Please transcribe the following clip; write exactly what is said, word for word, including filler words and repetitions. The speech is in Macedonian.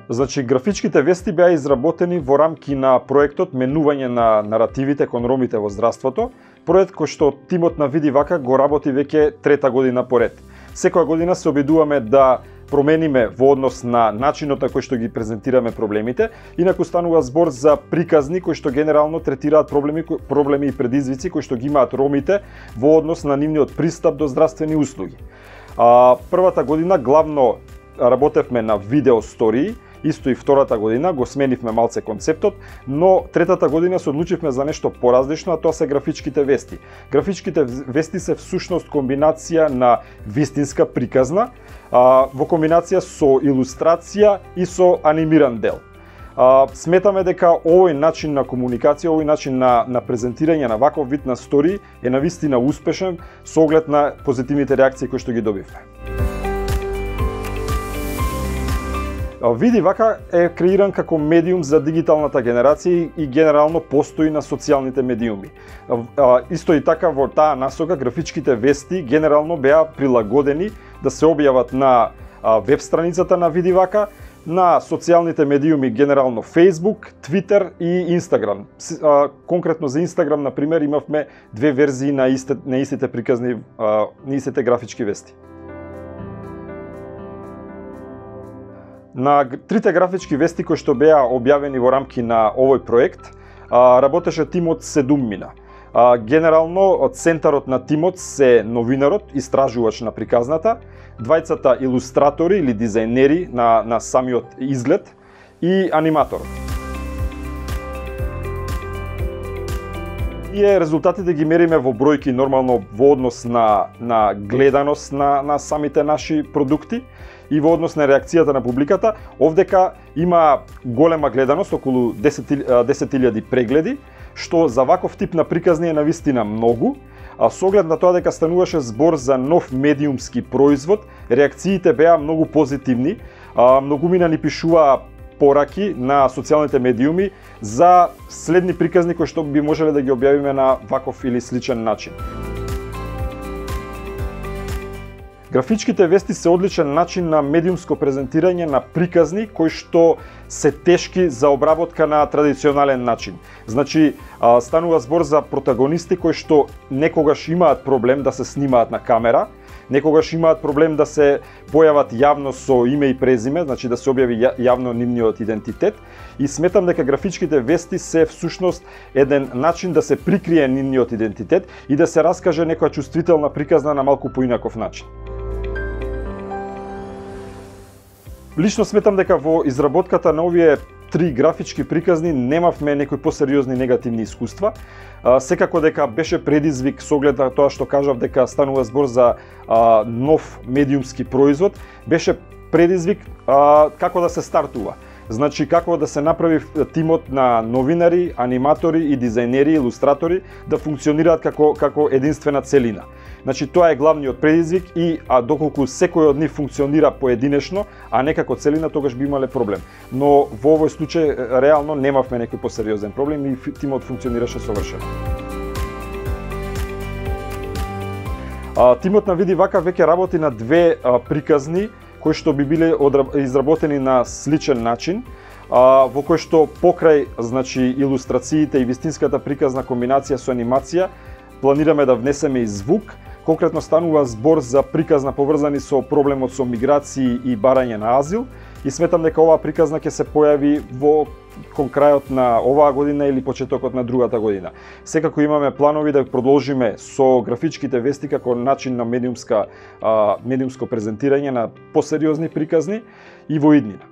Значи, графичките вести беа изработени во рамки на проектот Менување на наративите кон ромите во здравството, проект кој што тимот на Види Вака го работи веќе трета година поред. Секоја година се обидуваме да промениме во однос на начинот на кој што ги презентираме проблемите, инаку станува збор за приказни кои што генерално третираат проблеми, проблеми и предизвици кои што ги имаат ромите во однос на нивниот пристап до здравствени услуги. А, првата година главно работевме на видео стории, исто и втората година го сменивме малце концептот, но третата година се одлучивме за нешто поразлично, а тоа се графичките вести. Графичките вести се всушност комбинација на вистинска приказна, а, во комбинација со илустрација и со анимиран дел. А, сметаме дека овој начин на комуникација, овој начин на, на презентирање на ваков вид на стории е навистина успешен со оглед на позитивните реакции кои што ги добивме. Види Вака е креиран како медиум за дигиталната генерација и генерално постои на социјалните медиуми. Исто и така во таа насока графичките вести генерално беа прилагодени да се објават на веб страницата на Види Вака, на социјалните медиуми генерално Facebook, Twitter и Instagram. Конкретно за Instagram, на пример, имавме две верзии на, исте, на истите приказни, на истите графички вести. На трите графички вести кои што беа објавени во рамки на овој проект, работеше тимот седуммина. Генерално, центарот на тимот се новинарот, истражувач на приказната, двајцата илустратори или дизајнери на, на самиот изглед и аниматорот. Ние резултатите ги мериме во бројки нормално во однос на, на гледаност на, на самите наши продукти и во однос на реакцијата на публиката. Овдека има голема гледаност, околу десет илјади прегледи, што за ваков тип на приказни е навистина многу, а со оглед на тоа дека стануваше збор за нов медиумски производ, реакциите беа многу позитивни. Многумина ни пишуваа пораки на социјалните медиуми за следни приказни кои што би можеле да ги објавиме на ваков или сличен начин. Графичките вести се одличен начин на медиумско презентирање на приказни кои што се тешки за обработка на традиционален начин. Значи, станува збор за протагонисти кои што некогаш имаат проблем да се снимаат на камера, некогаш имаат проблем да се појават јавно со име и презиме, значи да се објави јавно нивниот идентитет, и сметам дека графичките вести се всушност еден начин да се прикрие нивниот идентитет и да се раскаже некоја чувствителна приказна на малку поинаков начин. Лично сметам дека во изработката на овие три графички приказни немавме некои посериозни негативни искуства. Секако дека беше предизвик со оглед на тоа што кажав дека станува збор за а, нов медиумски производ, беше предизвик а, како да се стартува. Значи, како да се направи тимот на новинари, аниматори и дизајнери, илустратори да функционираат како, како единствена целина. Значи, тоа е главниот предизвик и а доколку секој од нив функционира поединечно, а не како целина, тогаш би имале проблем. Но во овој случај реално немавме некој посериозен проблем и тимот функционираше совршено. А, тимот на Види Вака веќе работи на две а, приказни кои што би биле изработени на сличен начин, а, во кој што покрај, значи, илустрациите и вистинската приказна комбинација со анимација, планираме да внесеме и звук. Конкретно станува збор за приказна поврзани со проблемот со миграции и барање на азил, и сметам дека оваа приказна ќе се појави во кон крајот на оваа година или почетокот на другата година. Секако имаме планови да продолжиме со графичките вести како начин на медиумска, а, медиумско презентирање на посериозни приказни и во иднина.